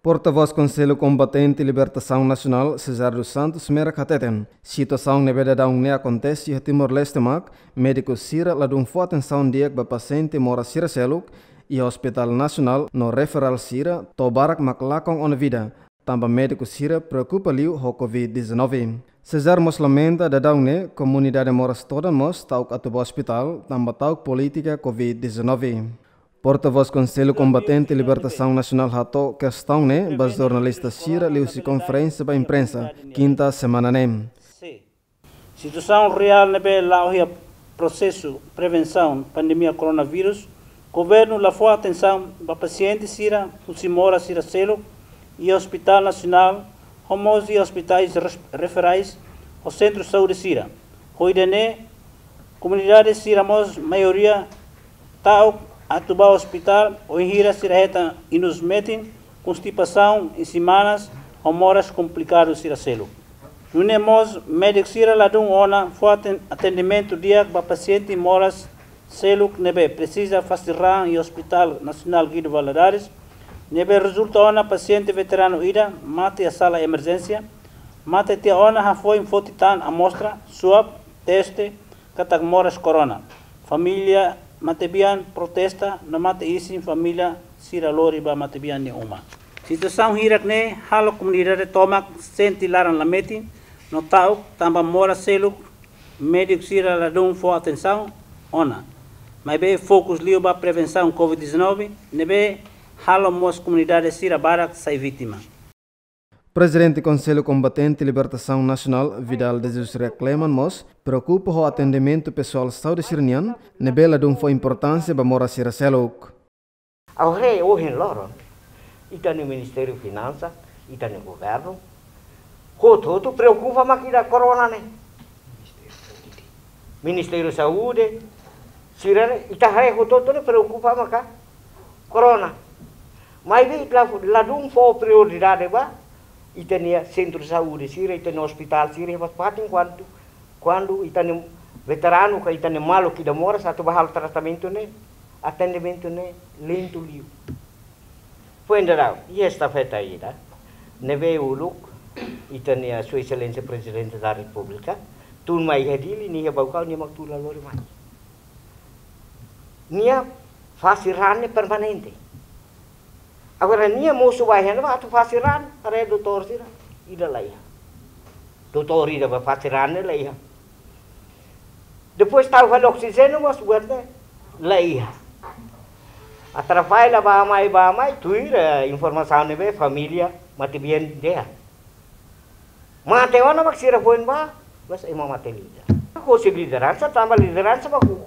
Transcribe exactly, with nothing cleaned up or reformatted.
Portavós Konsellu Kombatente Libertasaun Nasionál, Cesar dos Santos, merak hateten, situasaun ne'ebé daudaun ne'e akontese iha Timor-Leste mak, médiku sira ladún fó atensaun di'ak ba pasiente moras sira seluk iha Hospital Nasionál no referál sira, to'o barak mak lakon ona vida, tanba médiku sira preokupa liu ho covid dezanove. Cesar mós lamenta daudaun ne'e komunidade moras todan mós ta'uk atu ba ospitál, tanba ta'uk polítika covid dezanove. Portavós Konsellu Kombatente Libertasaun Nasionál hato'o kestaun ne'e ba jornalista sira liuhusi konferénsia ba imprensa, kinta semana ne'e. Situasaun reál ne'ebé la'o iha prosesu prevensaun pandemia koronavírus, governu la fó atensaun ba pasiente sira husi moras sira seluk iha Hospital Nasionál, ho mós iha ospitais res-, referais ho sentru saúde sira. Ho ida-ne'e, komunidade sira mós maioria ta'uk atu ba ospitál, wainhira sira hetan inus metin, konstipasaun, isin manas, ho moras komplikadu sira seluk. Nune'e mós médiku sira ladún ona fó aten-, atendimentu di'ak ba pasiente moras seluk ne'ebé presiza fase raan iha Hospital Nasionál Guido Valadares, ne'ebé rezulta ona pasiente veteranu ida mate iha sala emerjénsia, mate tiha ona hafoin foti tan amostra, swab, teste, katak moras korona. Família matebian protesta no mate isin família sira lori ba matebian nia uma. Situasaun hirak-ne'e halo komunidade tomak sente laran lametin no ta'uk tanba moras seluk médiku sira ladún fó atensaun ona. Maibé fokus liu ba prevensaun covid dezanove, ne'ebé halo mós komunidade sira barak sai vítima. Prezidente Konsellu Kombatente Libertasaun Nasionál, Vidal de Jesus Reak Kleman mós preokupa ho atendimentu pesoál saúde sira-nian, ne'ebé ladún fó importánsia ba moras sira seluk. Agora ohin loron, ita-nia Ministériu Finansa, ita-nia governu, hotu-hotu preokupa mak ida korona ne'e. Ministériu Saúde, sira ne'e, ita haree hotu-hotu ne'e preokupa maka korona. Maibé ita la, ladún fó prioridade ba ita-nia sentru saúde sira, ita-nia ospitál sira, fatin kuandu, kuandu ita-nia veteranu ka ita-nia maluk ida moras atu ba halo tratamentu ne'e, atendimentu ne'e lentu liu. Foin daudaun, iha estafeta ida, ne'ebé uluk, ita-nia Sua Exelénsia Prezidente da Repúblika, tun mai iha Dili, nia iha Baucau, nia mak tun la lori mai. Nia fase raan ne'e permanente. Agora nia mosu ba iha ne'ebá atu fase raan, haree doutór sira, ida la iha. Doutór ida ba fase raan ne'e la iha. Depois tau fali oksijéniu mós buat ne'e la iha. Atrapalla ba mai, ba mai, tuir, eh, informasaun ne'ebé família matebian dehan. Mate ona mak sira foin ba, mas ema mate liu. Husi lideransa, tanba lideransa ba hukum